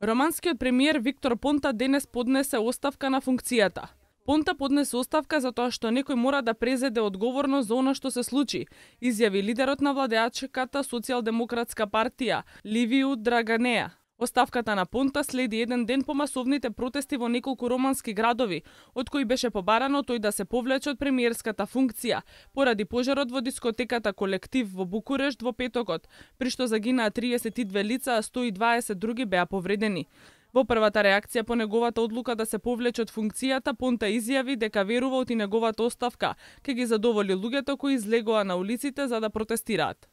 Романскиот премиер Виктор Понта денес поднесе оставка на функцијата. Понта поднесе оставка затоа што некој мора да презеде одговорност за она што се случи, изјави лидерот на владеачката Социјалдемократска партија Ливију Драганеа. Оставката на Понта следи еден ден по масовните протести во неколку романски градови, од кои беше побарано тој да се повлече од премиерската функција, поради пожарот во дискотеката Колектив во Букурешт во петокот, при што загинаа 32 лица, а 120 други беа повредени. Во првата реакција по неговата одлука да се повлече од функцијата, Понта изјави дека верува од неговата оставка ќе ги задоволи луѓето кои излегоа на улиците за да протестираат.